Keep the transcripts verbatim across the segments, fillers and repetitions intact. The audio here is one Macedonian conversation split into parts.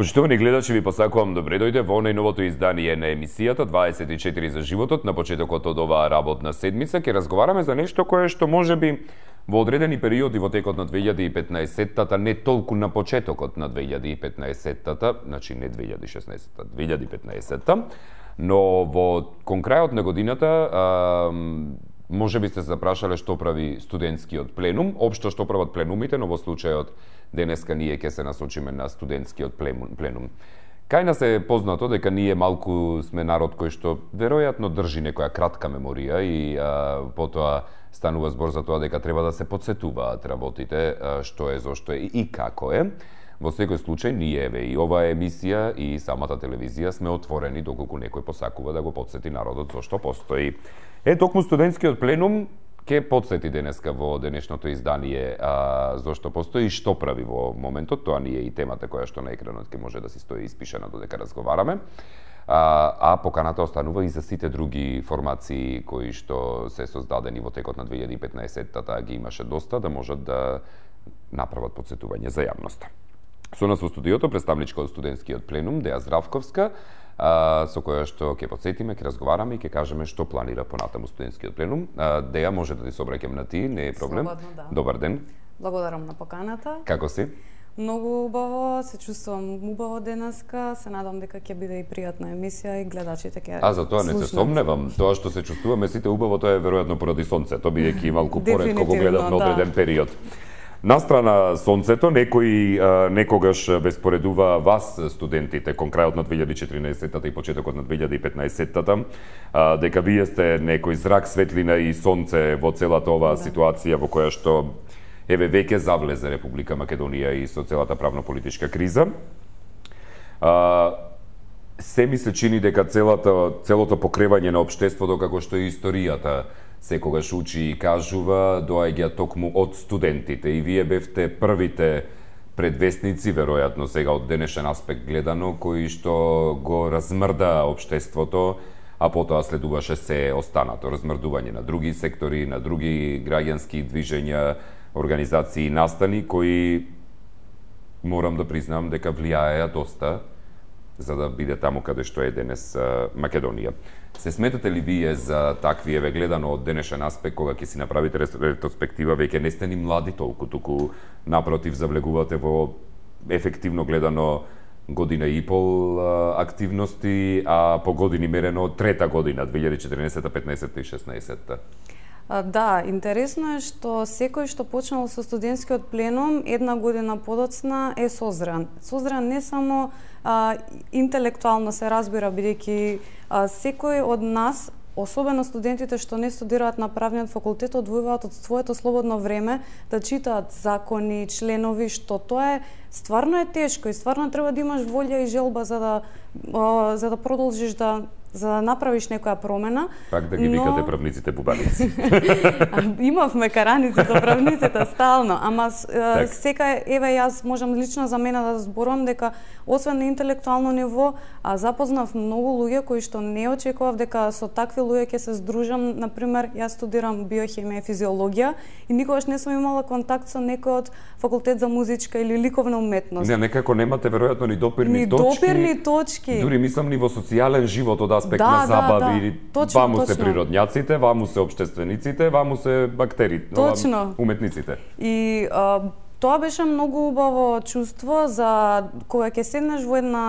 Почитувани гледачи, ви посакувам добре дојде во најновото издание на емисијата дваесет и четири за животот. На почетокот од оваа работна седмица ќе разговараме за нешто кое што можеби во одредени периоди во текот на две илјади и петнаесеттата, не толку на почетокот на две илјади и петнаесеттата, значи не две илјади и шеснаесеттата, две илјади и петнаесеттата, но во кон крајот на годината а, може би сте запрашале што прави студентскиот пленум, општо што прават пленумите, но во случајот денеска ние ќе се насочиме на студентскиот пленум. Кај нас е познато дека ние малку сме народ кој што веројатно држи некоја кратка меморија и а, потоа станува збор за тоа дека треба да се потсетуваат работите, а, што е, зошто е и како е. Во секој случај ние еве и оваа емисија и самата телевизија сме отворени доколку некој посакува да го потсети народот зошто постои. Е, токму студентскиот пленум ќе потсети денеска во денешното издание а, зошто постои и што прави во моментот. Тоа ни е и темата која што на екранот ќе може да си стои испишана додека разговараме. А, а поканата останува и за сите други формации кои што се создадени во текот на две илјади и петнаесеттата, ги имаше доста, да можат да направат потсетување за јавноста. Со нас во студиото представничка од студентскиот пленум Деја Здравковска, а, со која што ќе потсетиме, ќе разговараме и ќе кажеме што планира понатаму студентскиот пленум. А, Деја, може да ти се обраќам на ти, не е проблем. Слободно, да. Добар ден. Благодарам на поканата. Како си? Многу убаво, се чувствувам убаво денеска, се надам дека ќе биде и пријатна емисија и гледачите ќе А за тоа не се сомневам. Тоа што се чувствуваме сите убаво, тоа е веројатно поради сонцето, бидејќи малку поретко го гледавме да. одреден период. Настрана сонцето, некои а, некогаш ве споредува вас, студентите, кон крајот на две илјади и четиринаесеттата и почетокот на две илјади и петнаесеттата, а, дека вие сте некој зрак, светлина и сонце во целата оваа да. ситуација во која што еве веќе завлезе Република Македонија и со целата правно-политичка криза. А, се ми се чини дека целата, целото покревање на општеството, како што и историјата секогаш учи и кажува, доаѓа токму од студентите. И вие бевте првите предвестници, веројатно сега од денешен аспект гледано, кои што го размрда општеството, а потоа следуваше се останато. Размрдување на други сектори, на други граѓански движења, организации и настани, кои, морам да признам, дека влијаеа доста за да биде таму каде што е денес а, Македонија. Се сметате ли вие за такви, еве гледано од денешен аспект, кога ќе си направите ретроспектива, веќе не сте ни млади толку, туку напротив завлегувате во ефективно гледано година и пол а, активности, а по години мерено трета година, две илјади и четиринаесетта, петнаесетта и шеснаесетта? Да, интересно е што секој што почнал со студентскиот пленум една година подоцна е созран. Созран не само а, интелектуално се разбира, бидејќи секој од нас, особено студентите што не студираат на правниот факултет, одвојуваат од своето слободно време да читаат закони, членови, што тоа е стварно е тешко и стварно треба да имаш волја и желба за да а, за да продолжиш да за да направиш некоја промена. Пак да ги но... викате правниците бубаници. Имавме караници за правниците стално, ама так. Сека еве јас можам лично за мене да зборувам дека освен на интелектуално ниво, а запознав многу луѓе кои што не очекував дека со такви луѓе ќе се здружам. Например, јас студирам биохемија и физиологија и никогаш не сум имала контакт со некој од факултет за музичка или ликовна уметност. Не, некако немате веројатно ни допирни ни точки. Ни допирни точки. Дури мислам ни во социјален живот од аспект да, на забави, да, да. Точно, ваму точно. се природњаците, ваму се општествениците, ваму се бактерите, точно. Уметниците. И а, тоа беше многу убаво чувство за кога ќе седнеш во една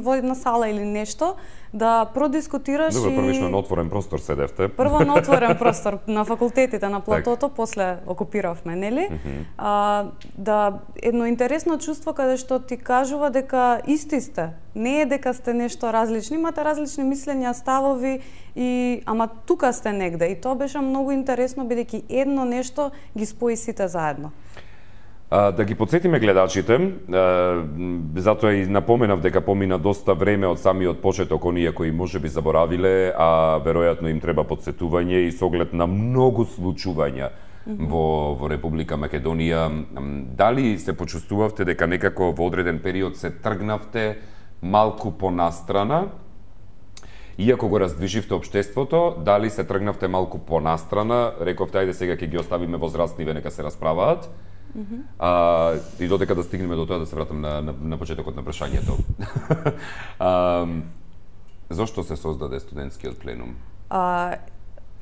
во една сала или нешто, да продискутираш. Добро, и... првично на отворен простор седевте. Прво на отворен простор на факултетите на платото, после окупиравме, нели? Mm -hmm. а, да, едно интересно чувство каде што ти кажува дека исти сте. Не е дека сте нешто различни, имате различни мислења, ставови, и ама тука сте негде. И тоа беше многу интересно, бидејќи едно нешто ги спои сите заедно. А, да ги подсетиме гледачите, а, затоа и напоменав дека помина доста време од самиот почеток, оние кои може би заборавиле, а веројатно им треба подсетување и со оглед на многу случувања mm -hmm. во, во Република Македонија. Дали се почувствувавте дека некако во одреден период се тргнавте малку понастрана, иако го раздвиживте општеството, дали се тргнавте малку понастрана, рековте ајде сега ќе ги оставиме возрастниве нека се расправаат, Mm -hmm. а, и додека да стигнеме до тоа да се вратам на, на, на почетокот на прашањето. а, зошто се создаде студентскиот пленум? А,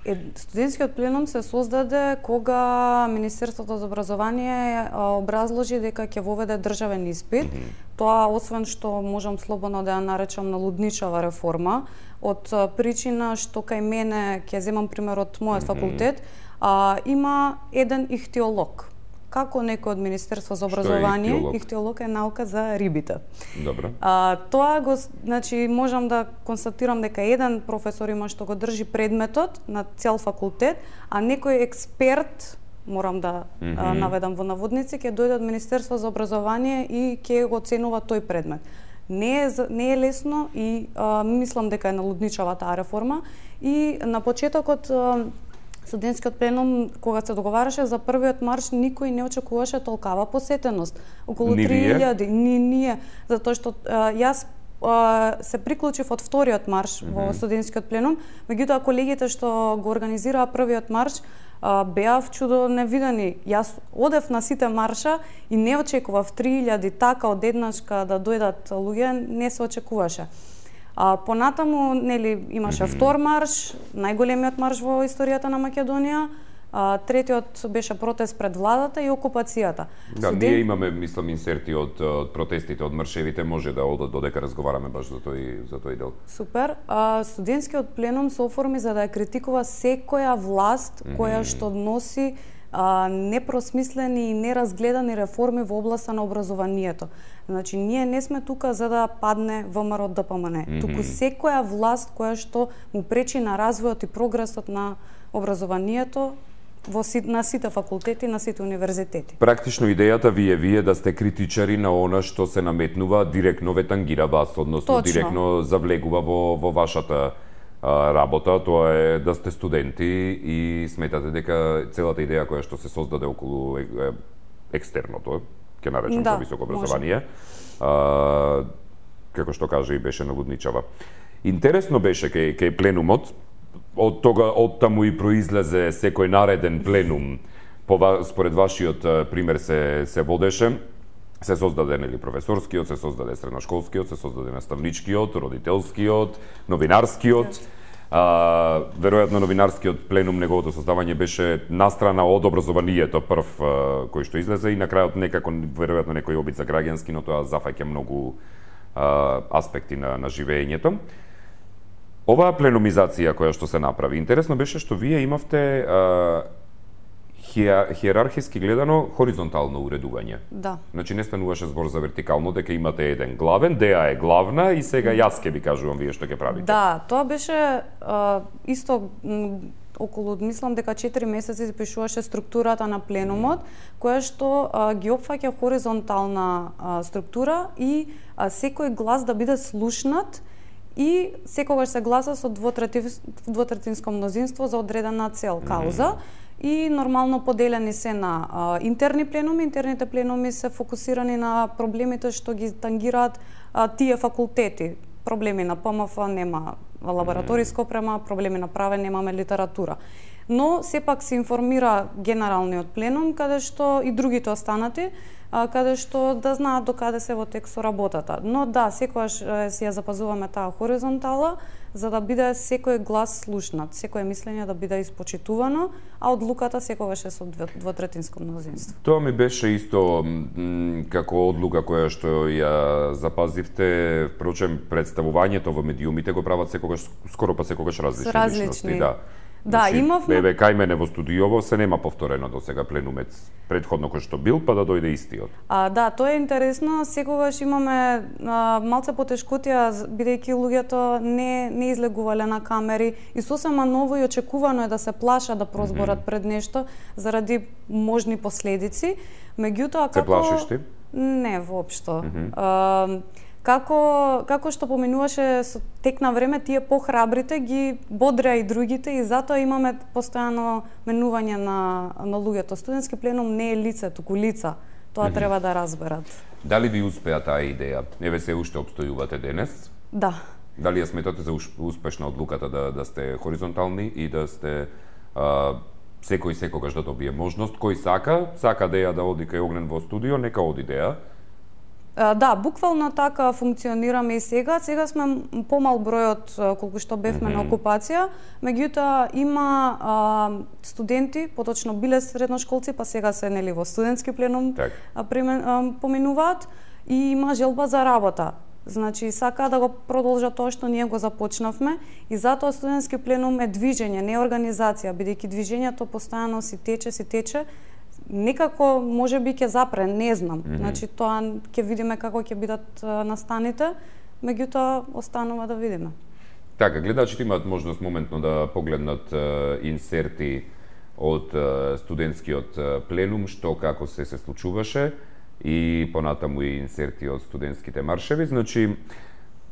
е, студентскиот пленум се создаде кога Министерството за образование образложи дека ќе воведе државен испит. Mm -hmm. Тоа, освен што можам слободно да ја наречам налудничава реформа, од причина што кај мене, ќе земам пример од мојот mm -hmm. факултет, а, има еден ихтиолог. Како некој од Министерство за образование, Што е ихтиолог? ихтиолог е наука за рибите. Добро. А, тоа го, значи, можам да констатирам дека еден професор има што го држи предметот на цел факултет, а некој експерт, морам да mm -hmm. а, наведам во наводници, ќе дојде од Министерство за образование и ќе го оценува тој предмет. Не е, не е лесно и а, мислам дека е налудничава таа реформа. И на почетокот а, студентскиот пленум, кога се договараше за првиот марш, никој не очекуваше толкава посетеност. Околу три илјади. Ни ние, затоа што а, јас а, се приклучив од вториот марш mm -hmm. во студентскиот пленум, меѓутоа колегите што го организираа првиот марш а, беа чудо невидени. Јас одев на сите марша и не очекував три илјади така одеднашка да дојдат луѓе, не се очекуваше. А, понатаму, нели, имаше mm -hmm. втор марш, најголемиот марш во историјата на Македонија. А, третиот беше протест пред владата и окупацијата. Да, Студент... ние имаме, мислам, инсерти од, од протестите, од маршевите, може да одат додека разговараме баш за тој за тој дел. Супер. А, студентскиот пленум се оформи за да ја критикува секоја власт mm -hmm. која што носи а, непросмислени и неразгледани реформи во областа на образованието. Значи, ние не сме тука за да падне ВМРО Д П М Н. Mm -hmm. Туку секоја власт која што му пречи на развојот и прогресот на образованието во на сите факултети, на сите универзитети. Практично идејата ви е вие да сте критичари на она што се наметнува, директно ве тангира вас, односно Точно. директно завлегува во, во вашата а, работа, тоа е да сте студенти и сметате дека целата идеја која што се создаде околу е, е, екстерното, ќе наречам да, за високо образование, а, како што кажа и беше налудничава. Интересно беше кај, кај пленумот, од тога, од таму и произлезе секој нареден пленум, по, според вашиот пример се, се водеше, се создаде нели професорскиот, се создаде средношколскиот, се создаде наставничкиот, родителскиот, новинарскиот. А, веројатно новинарскиот пленум, неговото создавање беше настрана од образованието прв а, кој што излезе и на крајот некако веројатно некој обид за граѓански, но тоа зафаќа многу а, аспекти на, на живеењето. Оваа пленумизација која што се направи, интересно беше што вие имавте а, хиерархиски гледано хоризонтално уредување. Да. Значи не стануваше збор за вертикално, дека имате еден главен, Деа е главна и сега јас ќе ви кажувам вие што ќе правите. Да, тоа беше а, исто околу, мислам дека четири месеци пишуваше структурата на пленумот, која што а, ги опфаќа хоризонтална а, структура и а, секој глас да биде слушнат и секогаш се гласа со двотретинско мнозинство за одредена цел, кауза. Mm -hmm. И нормално поделени се на а, интерни пленуми. Интерните пленуми се фокусирани на проблемите што ги тангираат а, тие факултети. Проблеми на П М Ф нема лабораториска опрема, проблеми на праве немаме литература. Но сепак се информира генералниот пленум, каде што и другите останати, каде што да знаат докаде се во тек со работата. Но да, секогаш си ја запазуваме таа хоризонтала, за да биде секој глас слушнат, секое мислење да биде испочитувано, а одлуката секогаш е со двотретинско мнозинство. Тоа ми беше исто како одлука која што ја запазивте, впрочем представувањето во медиумите го прават секогаш, скоро па секогаш различни, различни. личности, да. Да, значи, имавме... Еве, кај мене во студиово се нема повторено до сега пленумет предходно кој што бил, па да дојде истиот. А, да, тоа е интересно. Секогаш имаме а, малце потешкотија, бидејќи луѓето не, не излегувале на камери и сосема ново и очекувано е да се плаша да прозборат mm -hmm. пред нешто заради можни последици. Меѓутоа, како... Се плашиш ти? Не, воопшто. Mm -hmm. а, Како, како што поминуваше со тек на време, тие похрабрите ги бодреа и другите и затоа имаме постојано менување на, на луѓето. Студентски пленум не е лице, туку лица. Тоа mm -hmm. треба да разберат. Дали ви успеа таа идеја? Еве се уште обстојувате денес? Да. Дали ја сметате за успешна одлуката да, да сте хоризонтални и да сте а, секој секогаш да добие можност, кој сака, сака да ја да оди кај Огнен во студио, нека оди да ја. Да, буквално така функционираме и сега. Сега сме помал бројот колку што бевме mm-hmm. на окупација, меѓутоа има а, студенти, поточно биле средношколци, па сега се нели во студентски пленум так. а, примен, а, поминуваат и има желба за работа. Значи, сака да го продолжат тоа што ние го започнавме и затоа студентски пленум е движење, не организација, бидејќи движењето постојано си тече, си тече, некако може би ќе запре, не знам. Mm-hmm. Значи тоа ќе видиме како ќе бидат настаните, меѓутоа останува да видиме. Така, гледачите имаат можност моментно да погледнат uh, инсерти од uh, студентскиот uh, пленум, што како се се случуваше и понатаму и инсерти од студентските маршеви. Значи,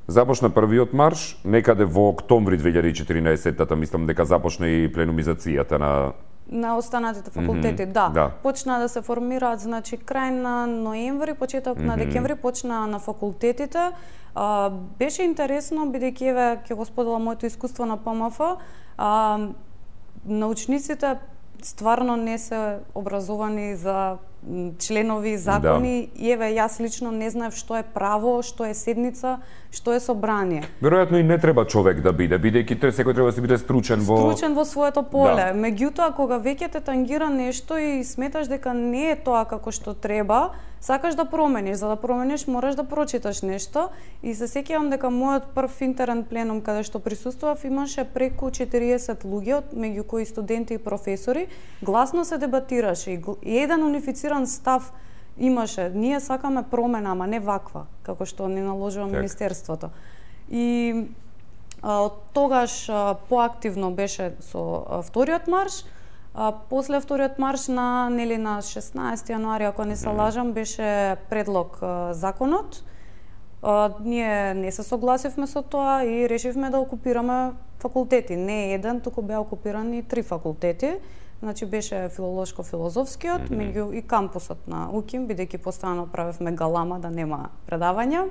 започна првиот марш, некаде во октомври две илјади и четиринаесетта, мислам дека започна и пленумизацијата на на останатите факултети, mm-hmm. да. да. Почна да се формираат, значи крај на ноември, почеток mm-hmm. на декември почна на факултетите. А, беше интересно бидејќи еве ќе го споделам моето искуство на П М Ф. А, научниците стварно не се образовани за членови, закони, да. И еве јас лично не знаев што е право, што е седница, што е собрание. Веројатно и не треба човек да биде, бидејќи тој секој треба да се биде стручен во стручен во своето поле. Да. Меѓутоа кога веќе те тангира нешто и сметаш дека не е тоа како што треба, сакаш да промениш, за да промениш мораш да прочиташ нешто и се сеќавам дека мојот прв интерен пленум каде што присуствував имаше преку четириесет луѓе, меѓу кои студенти и професори, гласно се дебатираше и еден унифициран став имаше. Ние сакаме промена, ама не ваква, како што ни наложува так. Министерството. И а, од тогаш а, поактивно беше со а, вториот марш. А, после вториот марш на нели на шеснаесети јануари, ако не се лажам, беше предлог а, законот. А, ние не се согласивме со тоа и решивме да окупираме факултети. Не еден, туку беа окупирани три факултети. Значи беше филолошко-филозофскиот, mm-hmm. меѓу и кампусот на УКИМ, бидејќи постојано правевме галама да нема предавања.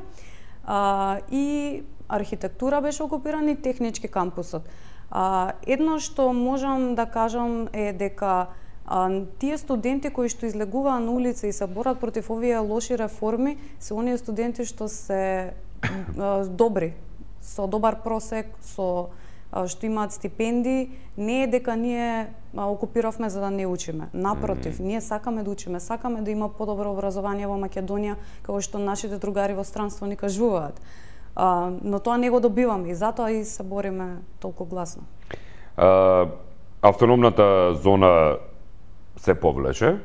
А, и архитектура беше окупиран и технички кампусот. А, едно што можам да кажам е дека а, тие студенти кои што излегуваа на улица и се борат против овие лоши реформи, се оние студенти што се а, добри, со добар просек, со што имаат стипендии, не е дека ние окупиравме за да не учиме. Напротив, mm-hmm. ние сакаме да учиме, сакаме да има подобро образование во Македонија, како што нашите другари во странство ни кажуваат. А, но тоа не го добиваме и затоа и се бориме толку гласно. А, автономната зона се повлече,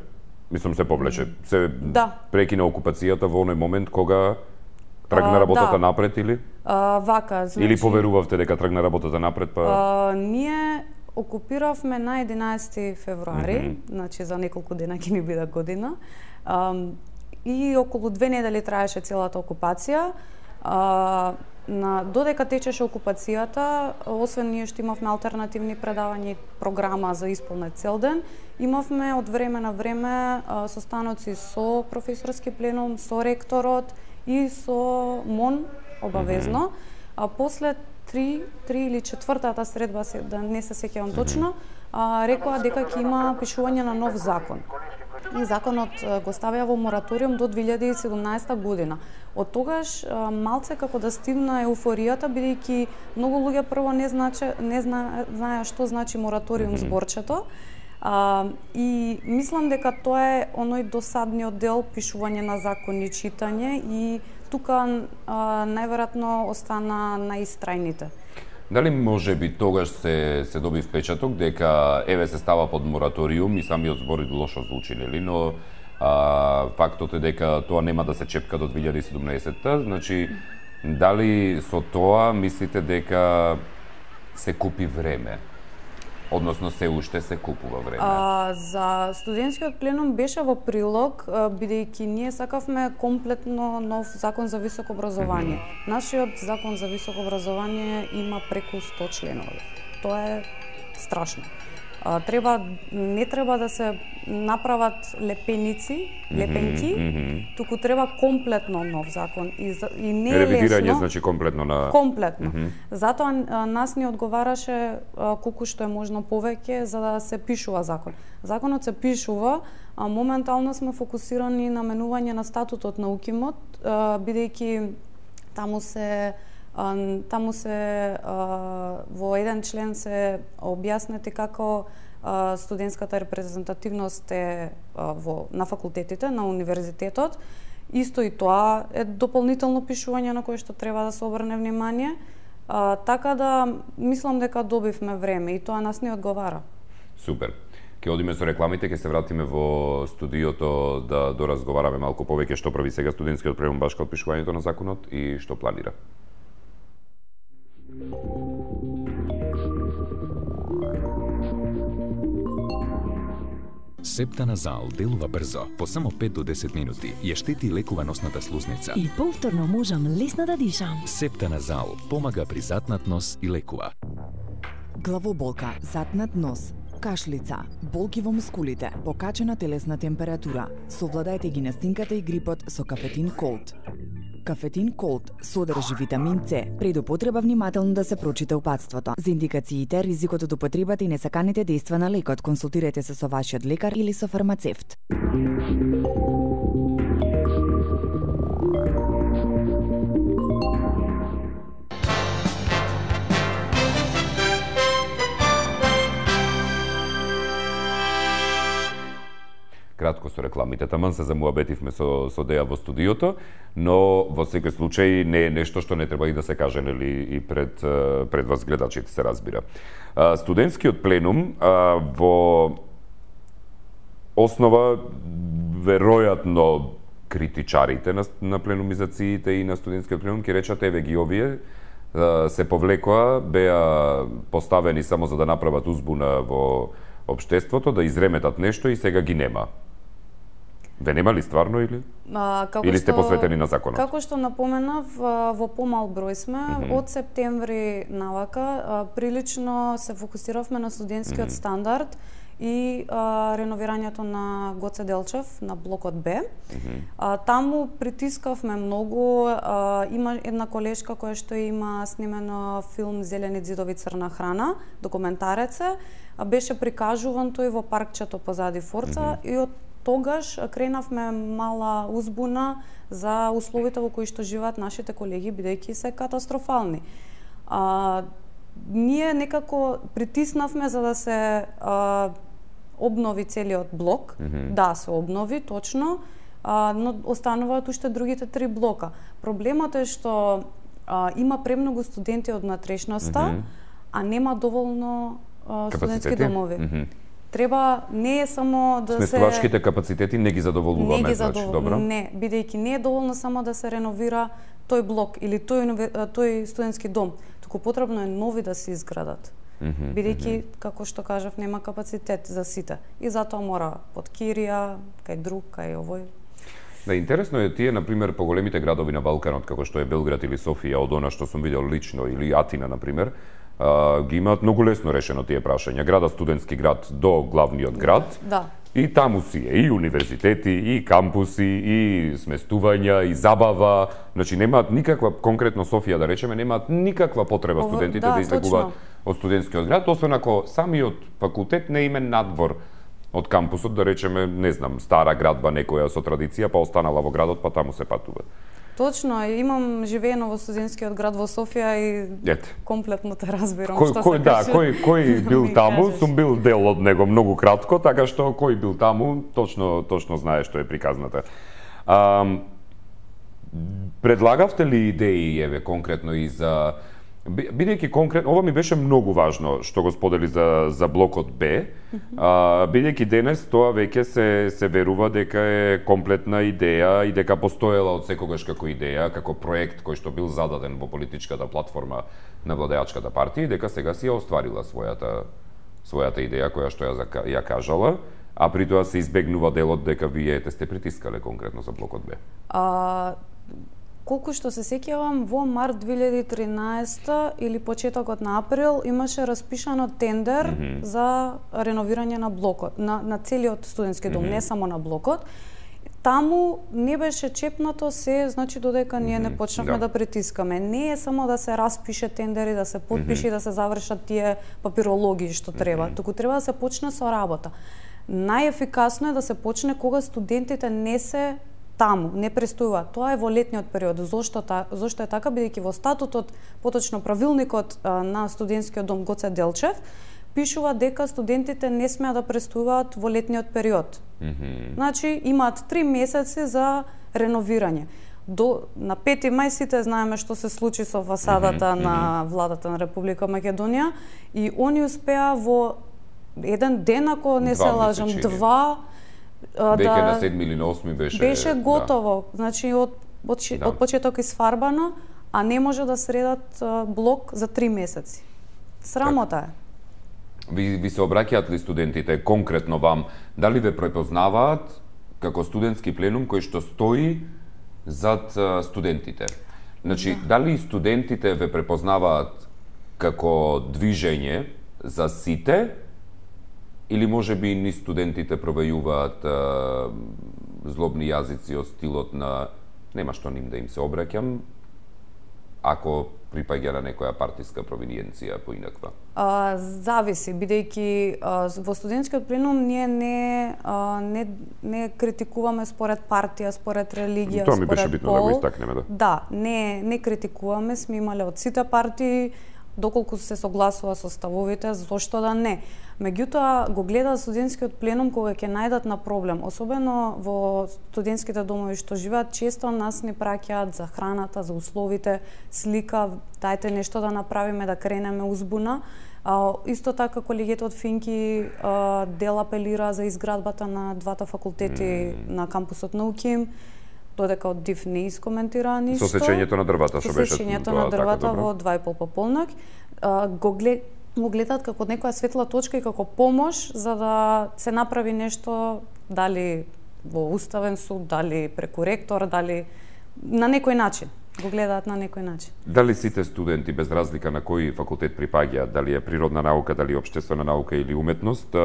мислам се повлече, се да. Прекина окупацијата во оној момент кога тргна работата да. Напред или? А, вака, значи... Или поверувавте дека тргна работата напред, па... А, ние окупиравме на единаесети февруари, mm-hmm. значи за неколку дена ќе ни биде година. А, и околу две недели траеше целата окупација. А, на, додека течеше окупацијата, освен ние што имавме алтернативни предавања и програма за исполнет цел ден, имавме од време на време а, состаноци со професорски пленум, со ректорот, и со МОН обавезно, mm-hmm. а после три, три или четвртата средба, да не се сеќавам точно, а, рекоа дека ќе има пишување на нов закон. И законот го ставија во мораториум до две илјади и седумнаесета година. Од тогаш а, малце како да стигна еуфоријата, бидејќи многу луѓе прво не значи не зна, знаеа што значи мораториум mm-hmm. зборчето. А, и мислам дека тоа е оној досадниот дел, пишување на закони, читање и тука а, најверојатно остана наистрајните. Дали може би тогаш се се доби впечаток дека еве се става под мораториум и самиот збор лошо звучи, нели, но а, фактот е дека тоа нема да се чепка до две илјади и седумнаесетта, значи дали со тоа мислите дека се купи време? Односно се уште се купува време. А, за студентскиот пленум беше во прилог, бидејќи ние сакавме комплетно нов закон за високо образование. Mm-hmm. Нашиот закон за високо образование има преку сто членови. Тоа е страшно. А, треба не треба да се направат лепеници, лепенки, mm -hmm. туку треба комплетно нов закон и, и не е ревидирање лесно. Значи комплетно на комплетно. Mm -hmm. Затоа а, нас ни одговараше а, колку што е можно повеќе за да се пишува закон. Законот се пишува, а моментално сме фокусирани на менување на статутот на УКИМОТ, а, бидејќи таму се а, таму се а, во еден член се објаснети како а, студентската репрезентативност е а, во на факултетите, на универзитетот. Исто и тоа е дополнително пишување на кое што треба да се обрне внимание. А, така да мислам дека добивме време и тоа нас не одговара. Супер. Ке одиме со рекламите, ке се вратиме во студиото да доразговараме малку повеќе што прави сега студентскиот пленум баш као пишувањето на законот и што планира. Септаназал делува брзо, по само пет до десет минути, ја штети и лекува носната слузница. И повторно можам лесно да дишам. Септаназал помага при затнат нос и лекува. Главоболка, затнат нос, кашлица, болки во мускулите, покачена телесна температура. Совладајте ги настинката и грипот со кафетин Колд. Кафетин Колд содржи витамин С. Пред употреба внимателно да се прочита упатството. За индикациите, ризикот од употребата и несаканите дејства на лекот, консултирайте се со вашиот лекар или со фармацевт. Кратко со рекламите, таман се замуабетивме со, со Деја во студиото, но во секој случај не е нешто што не треба и да се каже, нели, и пред, пред вас гледачите се разбира. Студентскиот пленум во основа веројатно критичарите на, на пленумизациите и на студентскиот пленум ќе речат еве ги овие се повлекоа, беа поставени само за да направат узбуна во општеството, да изреметат нешто и сега ги нема. Ве нема ли стварно или? А, како или сте што, посветени на законот? Како што напоменав, во помал број сме, mm -hmm. од септември навака, прилично се фокусиравме на студентскиот mm -hmm. стандард и а, реновирањето на Гоце Делчев на блокот Б. Mm -hmm. а, таму притискавме многу, а, има една колешка која што има снимено филм Зелени ѕидови црна храна, документарец е, беше прикажуван тој во паркчето позади Форца mm -hmm. и од тогаш кренавме мала узбуна за условите во кои што живеат нашите колеги, бидејќи се катастрофални. А, ние некако притиснавме за да се а, обнови целиот блок, mm -hmm. да се обнови, точно, а, но остануваат уште другите три блока. Проблемот е што а, има премногу студенти од натрешноста, mm -hmm. а нема доволно а, студентски домови. Mm -hmm. Треба, не е само да се... Сместувачките капацитети не ги задоволуваме, не ги значи, задовол... добро? Не, бидејќи не е доволно само да се реновира тој блок или тој, тој студентски дом, туку потребно е нови да се изградат. Mm -hmm, бидејќи, mm -hmm. како што кажав, нема капацитет за сите. И затоа мора под Кирија, кај друг, кај овој. Да, интересно е тие, например, поголемите градови на Балканот, како што е Белград или Софија, од она што сум видел лично, или Атина, например, Uh, ги имаат многу лесно решено тие прашања. Градот студентски град до главниот град. Да. И таму си е и универзитети, и кампуси, и сместувања, и забава. Значи немаат никаква, конкретно Софија да речеме, немаат никаква потреба Ово, студентите да, да излегуваат точно. од студентскиот град, освен ако самиот факултет не име надвор од кампусот, да речеме, не знам, стара градба некоја со традиција, па останала во градот, па таму се патува. Точно, имам живеено во студентскиот град во Софија и Ете. комплетно те разбирам Кој, што кој, се да, каже. кој, кој бил Ми таму, кажеш. сум бил дел од него многу кратко, така што кој бил таму, точно точно знае што е приказната. А, предлагавте ли идеи, еве, конкретно и за... Бидејќи конкретно, ова ми беше многу важно што го сподели за, за блокот Б, mm -hmm. а, бидејќи денес тоа веќе се, се верува дека е комплетна идеја и дека постоела од секогаш како идеја, како проект кој што бил зададен во политичката платформа на владеачката партија и дека сега си ја остварила својата, својата идеја која што ја, ја кажала, а при тоа се избегнува делот дека вие ете сте притискале конкретно за блокот Б. А, Колку што се сеќавам, во март две илјади и тринаесета или почетокот на април имаше распишано тендер mm -hmm. за реновирање на блокот, на, на целиот студентски дом, mm -hmm. не само на блокот. Таму не беше чепнато се, значи додека ние не почнавме да. да притискаме. Не е само да се распише тендери, да се подпише и mm -hmm. да се завршат тие папирологии што треба, mm -hmm. туку треба да се почне со работа. Најефикасно е да се почне кога студентите не се таму, не престојуваат. Тоа е во летниот период. Зошто, та, зошто е така? Бидејќи во статутот, поточно правилникот а, на студентскиот дом Гоце Делчев, пишува дека студентите не смеат да престојуваат во летниот период. Mm -hmm. Значи, имаат три месеци за реновирање. До, на пети мај сите знаеме што се случи со фасадата mm -hmm. на владата на Република Македонија и они успеа во еден ден, ако не два, се лажам, два, Веќе да, на седми или на осми беше... Беше готово. Да. Значи, од, од, да. од почеток изфарбано, а не може да средат блок за три месеци. Срамота е. Ви, ви се обраќаат ли студентите конкретно вам? Дали ве препознаваат како студентски пленум кој што стои зад студентите? Значи, да. дали студентите ве препознаваат како движење за сите, или може би ни студентите провејуваат а, злобни јазици од стилот на нема што ним да им се обраќам, ако припаѓа на некоја партиска провиниенција поинаква? А, зависи, бидејќи а, во студентскиот пленум ние не, а, не, не критикуваме според партија, според религија, Тоа ми според беше битно пол. да го истакнеме, да. Да, не, не критикуваме, сме имале од сите партии, доколку се согласува со ставовите, зошто да не. Меѓутоа, го гледа студентскиот пленум кога ќе најдат на проблем. Особено во студентските домови што живеат, често нас ни праќаат за храната, за условите, слика, дајте нешто да направиме, да кренеме узбуна. А, исто така, колегијата од Финки а, дел апелира за изградбата на двата факултети mm. на кампусот на УКИМ, додека од ДИФ не искоментира ништо. Со сечењето на дрвата, што беше Со сечењето на дрвата во два и пол пополнок. А, го, глед, го гледат како некоја светла точка и како помош за да се направи нешто, дали во уставен суд, дали преку ректор, дали на некој начин. Го гледаат на некој начин. Дали сите студенти, без разлика на кој факултет припаѓаат, дали е природна наука, дали општествена наука или уметност,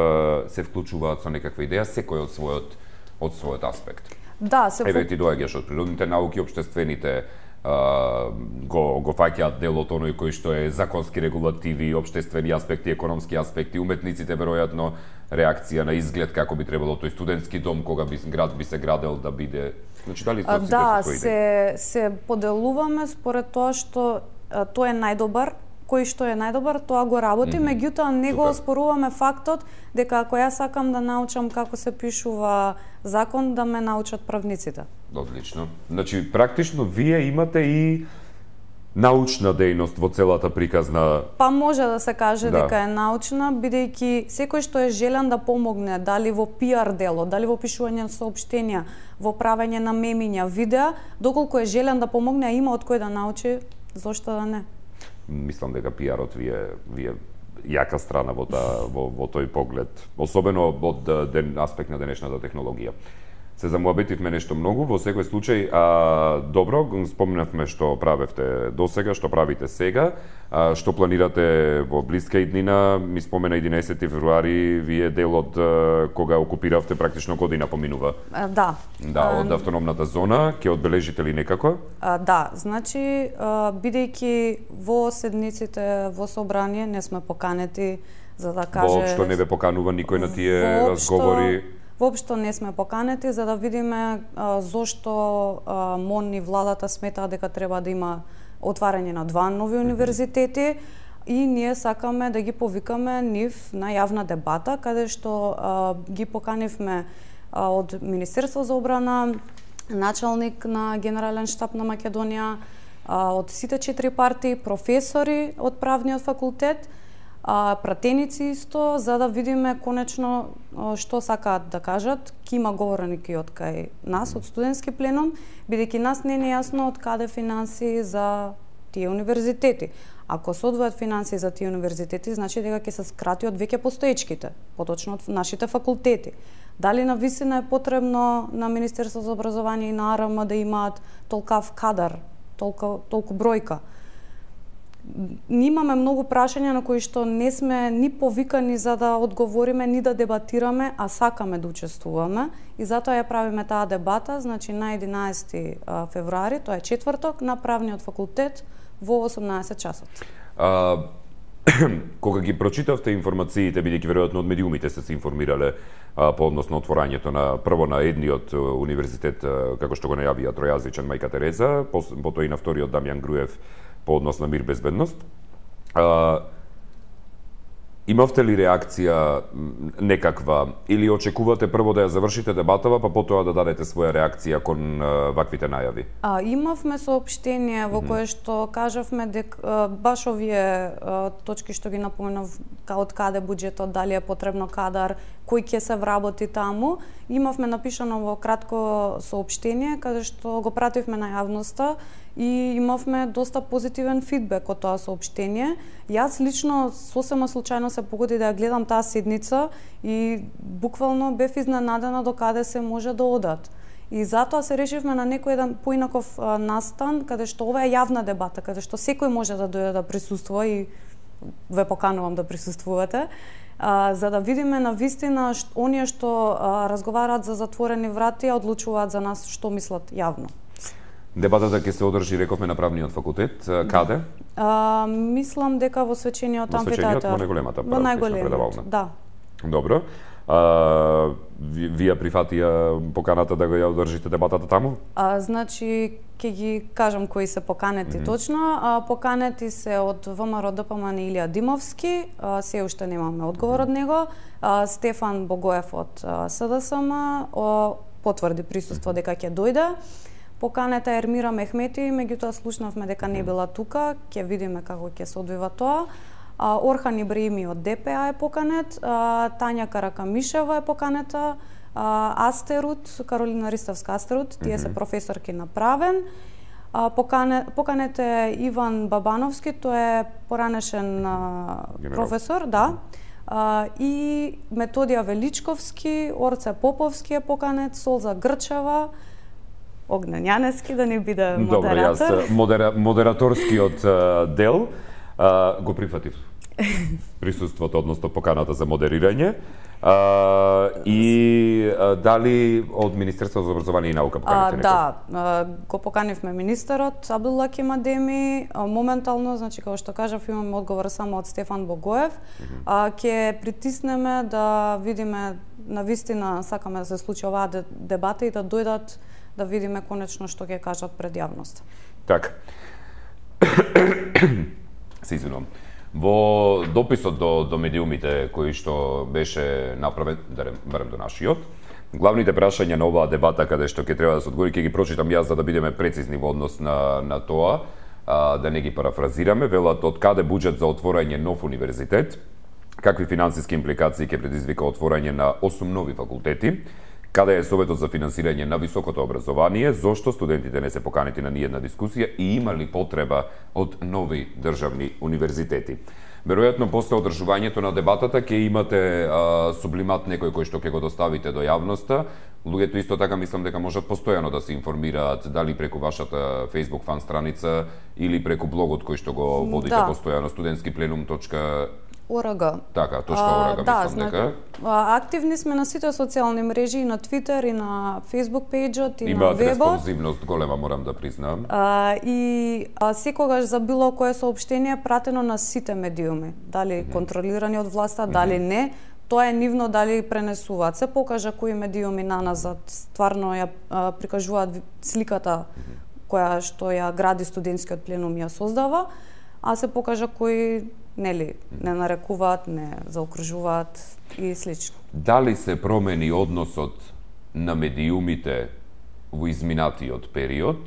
се вклучуваат со некаква идеја, секој од својот, од својот аспект? Да, се Еве ти доаѓаш од природните науки, општествените а, го го фаќаат дел од оној кој што е законски регулативи, општествени аспекти, економски аспекти, уметниците веројатно реакција на изглед како би требало тој студентски дом кога би град би се градел да биде. Значи дали со сите да, со се се поделуваме според тоа што а, тој е најдобар, кој што е најдобар, тоа го работи, mm -hmm. меѓутоа не го оспоруваме фактот дека ако јас сакам да научам како се пишува закон, да ме научат правниците. Одлично. Значи, практично, вие имате и научна дејност во целата приказна... Па може да се каже да. дека е научна, бидејќи секој што е желен да помогне, дали во пиар дело, дали во пишување на соопштенија, во правење на мемиња, видеа, доколку е желен да помогне, а има од кој да научи, зошто да не? Мислам дека пиарот ви е, ви е јака страна во, та, во, во тој поглед, особено од ден, аспект на денешната технологија. Се замуабетивме нешто многу, во секој случај, а, добро, спомнавме што правевте досега, што правите сега, а, што планирате во блиска иднина, ми спомена единаесети февруари, вие дел од кога окупиравте практично година поминува. А, да. Да, од автономната зона, ќе одбележите ли некако? А, да, значи, а, бидејќи во седниците во собрание не сме поканети за да каже... Воопшто не ве поканува никој на тие Воопшто... разговори? Воопшто не сме поканети за да видиме а, зошто а, МОН и владата сметаа дека треба да има отварање на два нови универзитети и ние сакаме да ги повикаме нив на јавна дебата, каде што а, ги поканивме а, од Министерство за одбрана, началник на Генерален штаб на Македонија, а, од сите четири партии, професори од правниот факултет, а, пратеници исто, за да видиме конечно што сакаат да кажат. Ки има говорники од кај нас, од студентски пленум, бидејќи нас не е нејасно од каде финансии за тие универзитети. Ако се одвојат финансии за тие универзитети, значи дека ќе се скрати од веќе постоечките, поточно од нашите факултети. Дали навистина е потребно на Министерство за образование и на АРМ да имаат толкав кадар толку толку бројка. Ни имаме многу прашања на кои што не сме ни повикани за да одговориме, ни да дебатираме, а сакаме да учествуваме и затоа ја правиме таа дебата, значи на единаесети февруари, тоа е четврток, на Правниот факултет во осумнаесет часот. А, кога ги прочитавте информациите, бидејќи веројатно од медиумите сте се информирале а, по однос на отворањето на прво на едниот универзитет, а, како што го најавија тројазичен Мајка Тереза, потоа и на вториот Дамјан Груев по однос на мир безбедност. А, имавте ли реакција некаква или очекувате прво да ја завршите дебатава, па потоа да дадете своја реакција кон а, ваквите најави? А, имавме соопштение во кое што кажавме дека баш овие а, точки што ги напоменав, од каде буџетот, дали е потребно кадар, кој ќе се вработи таму, имавме напишано во кратко соопштение каде што го пративме на јавноста и имавме доста позитивен фидбек од тоа соопштение. Јас лично сосема случајно се погоди да ја гледам таа седница и буквално бев изненадена до каде се може да одат. И затоа се решивме на некој еден поинаков а, настан, каде што ова е јавна дебата, каде што секој може да дојде да присуствува и ве поканувам да присуствувате, а, за да видиме на вистина што, оние што а, разговараат за затворени врати, а одлучуваат за нас што мислат јавно. Дебатата ќе се одржи, рековме, на Правниот факултет. Каде? А, мислам дека во свечениот амфитеатар. Во најголемата во најголемата, да. Добро. А, ви, вие прифатија поканата да го ја одржите дебатата таму? А, значи, ќе ги кажам кои се поканети mm -hmm. точно. А, поканети се од ВМРО ДПМН Илија Димовски, а, се уште немаме одговор од него. А, Стефан Богоев од СДСМ а, потврди присуство дека ќе дојде. Поканета Ермира Мехмети, меѓутоа слушнавме дека не била тука, ќе видиме како ќе се одвива тоа. А, Орхан Ибраими од ДПА е поканет, а, Тања Каракамишева е поканета, а, Астерут, Каролина Ристовска Астерут, тие се професорки на правен. А, покане, поканет е Иван Бабановски, тој е поранешен а, професор, да. А, и Методија Величковски, Орце Поповски е поканет, Солза Грчева, Огнен Јанески, да не биде модератор. Добро, јас модера, модераторскиот дел а, го прифатив. Присуството, односно поканата за модерирање. А, и а, дали од Министерството за образование и наука поканивте некој? Да, а, го поканивме министерот Абдуллаким Адеми. А, моментално, значи, како што кажав, имаме одговор само од Стефан Богоев. Mm -hmm. а, ќе притиснеме да видиме, навистина сакаме да се случи оваа дебата и да дојдат да видиме конечно што ќе кажат пред јавноста. Така. Се извинувам. Во дописот до, до медиумите кој што беше направен, да барем до нашиот, главните прашања на оваа дебата каде што ќе треба да се одговори, ќе ги прочитам јас за да бидеме прецизни во однос на, на тоа, а, да не ги парафразираме. Велат од каде буџет за отворање нов универзитет, какви финансиски импликации ќе предизвика отворање на осум нови факултети, каде е советот за финансирање на високото образование, зошто студентите не се поканети на ниедна дискусија и има ли потреба од нови државни универзитети. Веројатно, после одржувањето на дебатата ќе имате а, сублимат некој кој што ќе го доставите до јавноста. Луѓето исто така мислам дека можат постојано да се информираат, дали преку вашата Facebook фан страница или преку блогот кој што го водите да. Постојано, студентски пленум точка орг. Така, точка орг, да, мислам дека. Активни сме на сите социјални мрежи, и на Twitter, и на Facebook пејџот, и Имаат на вебот. Имаат респонзивност голема, морам да признам. А, и а, секогаш за било кое соопштение пратено на сите медиуми, дали mm -hmm. контролирани од власта, дали mm -hmm. не, тоа е нивно дали пренесуваат. Се покажа кои медиуми наназад стварно ја а, прикажуваат сликата mm -hmm. која што ја гради студентскиот пленум ја создава, а се покажа кои нели не нарекуваат, не заокружуваат и слично. Дали се промени односот на медиумите во изминатиот период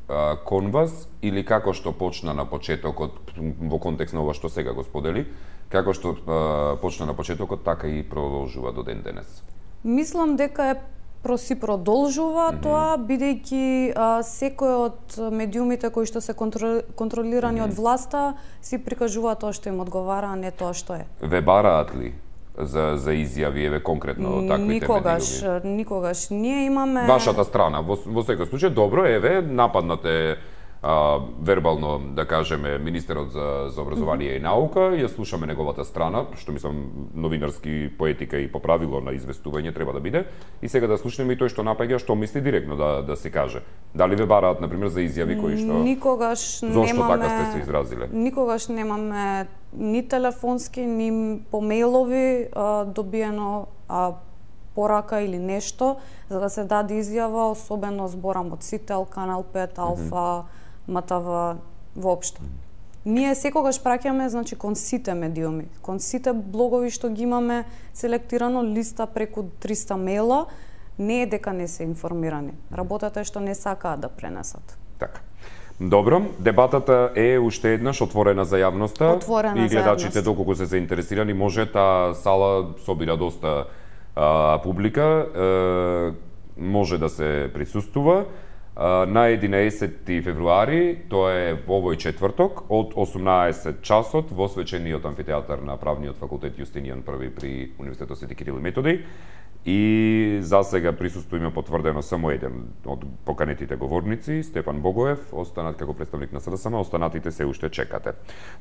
а, кон вас, или како што почна на почетокот во контекст на ова што сега го сподели, како што а, почна на почетокот, така и продолжува до ден денес? Мислам дека е си продолжува mm -hmm. тоа, бидејќи а, секој од медиумите кои што се контро, контролирани mm -hmm. од власта си прикажува тоа што им одговара, а не тоа што е. Ве бараат ли за за изјави, еве конкретно таквите никогаш, медиуми? Никогаш. Ние имаме Вашата страна во во секој случај добро, еве нападнате а, вербално, да кажеме, министерот за, за образование mm -hmm. и наука, ја слушаме неговата страна, што мислам новинарски поетика и по правило на известување треба да биде, и сега да слушнеме и тој што напаѓа, што мисли директно да да се каже. Дали ве бараат на пример за изјави кои што Никогаш Зошто немаме така сте се изразиле? Никогаш немаме ни телефонски, ни по мејлови а, добиено а, порака или нешто за да се даде изјава, особено зборам од Сител, Канал пет, Алфа, mm -hmm. МТВ, воопшто. Ние секогаш праќаме, значи, кон сите медиуми, кон сите блогови што ги имаме селектирано, листа преку триста мейла, не е дека не се информирани. Работата е што не сакаат да пренесат. Така. Добро, дебатата е уште еднаш отворена за јавноста. Отворена и гледачите за доколку се заинтересирани може, таа сала собира доста а, публика, а, може да се присуствува. На единаесети февруари, тоа е во овој четврток, од осумнаесет часот во свечениот амфитеатар на Правниот факултет Јустинијан први при Универзитетот Свети Кирил и Методи. И за сега присуство има потврдено само еден од поканетите говорници, Стефан Богоев, останат како представник на СДСМ, останатите се уште чекате.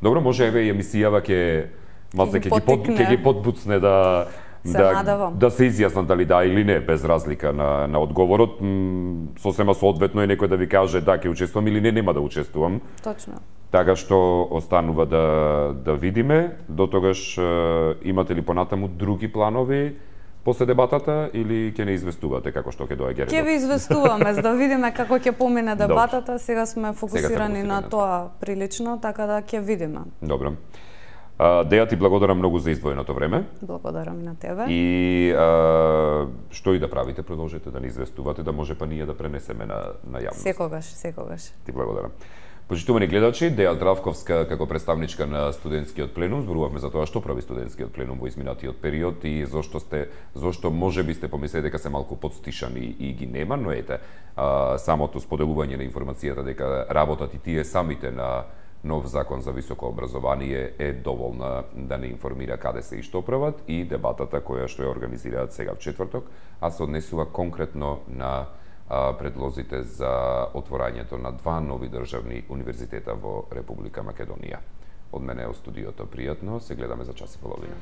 Добро, може еве и емисијава ќе малце ќе ги под, ќе ги подбуцне да да, да се изјаснат дали да или не, без разлика на, на одговорот. М, сосема соодветно е некој да ви каже да, ќе учествувам или не, нема да учествувам. Точно. Така што останува да, да видиме. До тогаш имате ли понатаму други планови после дебатата или ќе не известувате како што ќе доаѓа редот? Ќе ви известуваме за да видиме како ќе помине дебатата. Сега сме фокусирани сега на тоа прилично, така да ќе видиме. Добро. Деја, ти благодарам многу за издвоеното време. Благодарам на тебе. И а, што и да правите, продолжете да ни известувате, да може па ние да пренесеме на, на јавност. Секогаш, секогаш. Ти благодарам. Почитувани гледачи, Деја Здравковска како представничка на студентскиот пленум, зборувавме за тоа што прави студентскиот пленум во изминатиот период и зошто сте, зошто можеби сте помислили дека се малку подстишани и ги нема, но ете, а, самото споделување на информацијата дека работат и тие самите на нов закон за високо образование е доволна да не информира каде се и што прават, и дебатата која што ја организираат сега в четврток, а се однесува конкретно на а, предлозите за отворањето на два нови државни универзитета во Република Македонија. Од мене е од студиото пријатно, се гледаме за час и половина.